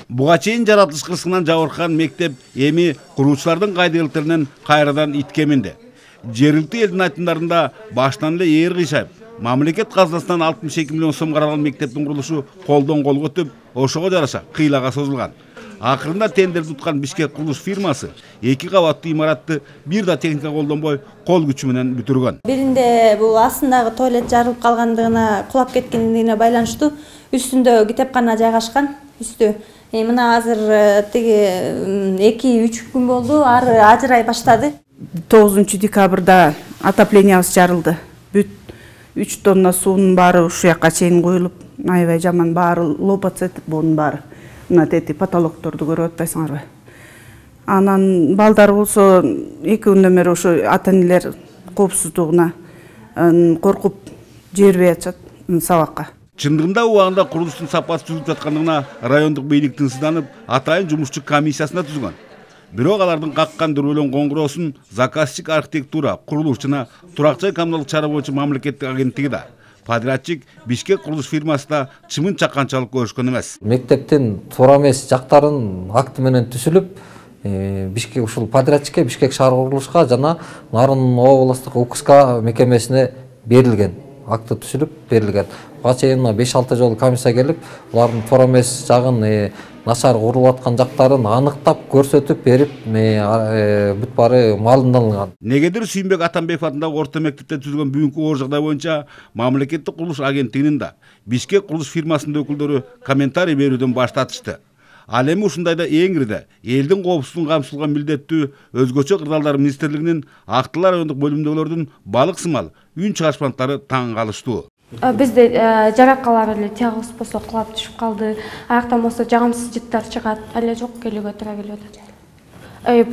Буга чейин жаратылыш кырсыгынан жабыркаган мектеп эми куруучулардын кайдыгерликтеринен кайрадан итке минди. Жергиликтүү элдин айтымдарында баштан эле ээр кыйшайып, мамлекет казынасынан 62 миллион сом каралган мектептин курулушу колдон колго өтүп, ошого жараша кыйлага созулган. Акырында тендерди уткан Бишкек курулуш фирмасы 2 кабаттуу имаратты бир да техника колдонбой кол күчү менен бүтүргөн. Биринде бул астындагы туалет жарылып калгандыгына, кулап кеткендигине байланыштуу үстүндө китепкана жайгашкан. Үстү мына азыр тиги 2-3 күн болду, ары ажырай баштады. 9 декабрда отоплениябыз жарылды. Бүт 3 тонна суунун баары ушул жакка чейин коюлуп, аябай жаман баары лопаться этип, бунун баары. Мына тети потолокторду көрүп атпайсыңарбы? Анан балдар болсо 2 күндөн бери ошо ата-энелер коопсуздугуна коркуп жибербей атышат сабакка. Чындыгында убагында курулуштун сапасы түзүлүп жаткандыгына райондук бийлик тынчсызданып, атайын жумушчу комиссиясына түзгөн. Бирок алардын каккан дүрбөлөң коңгуроосун заказчик архитектура, курулуш жана турак жай коммуналдык чара боюнча мамлекеттик агенттиги да, подрядчик Бишкек курулуш фирмасы да чымын чакканчалык көрүшкөн эмес. Мектептин туура эмес жактарын акты менен түзүлүп, Бишкек ушул подрядчикке Бишкек шаар курулушка жана Нарын облустук УКСК мекемесине берилген. Акты түзүлүп берилген. Буга чейин 5-6 жолу комиссия келип, булардын туура эмес жагын, начар курулуп аткан жактарын аныктап көрсөтүп берип, бүт баары маалымдалган. Негедир Сүйүнбек Атамбеков атындагы орто мектепте түзүлгөн бүгүнкү оор жагдай боюнча мамлекеттик курулуш агенттигинин да Бишкек курулуш фирмасынын өкүлдөрү комментарий берүүдөн баш тартышты. Ал эми ушундайда эң ириде элдин коопсуздугун камсыздоого милдеттүү өзгөчө кырдаалдар министрлигинин Актылар райондук бөлүмдөгүлөрдүн балык сымал үн чыгарышмандыктары таң калыштуу. Бизде жаракалар эле тягыз болсо кулап түшүп калды. Аяктан болсо жагымсыз жыттар чыгат. Эле жок келүүгө туура келип атат.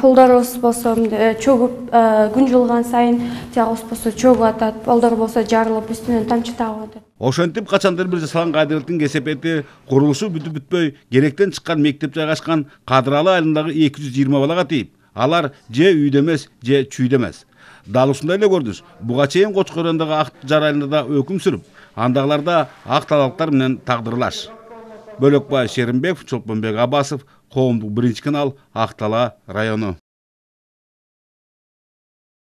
Полдорубуз болсо чөгүп, күн жылган сайын тягыз болсо чөгүп атат. Полдор болсо жарылып, үстүнөн тамчы тагып атат. Ошентип качандыр бир жасалган кайдыгерликтин кесепети курулушу бүтүп бүтпөй керектен чыккан мектеп жайгашкан Кадыралы айылындагы 220 балага тийип, алар же үйдө эмес, же чүйдө эмес. Дал ушундай эле көрүнүш буга чейин Кочкор районундагы Ак Жар айылында да өкүм сүрүп, андагыларда ак талаптар менен тагдырлаш. Бөлөкбай Шеримбеков, Чолпонбек Абасов, Коомдук 1 канал, Ак Тала району.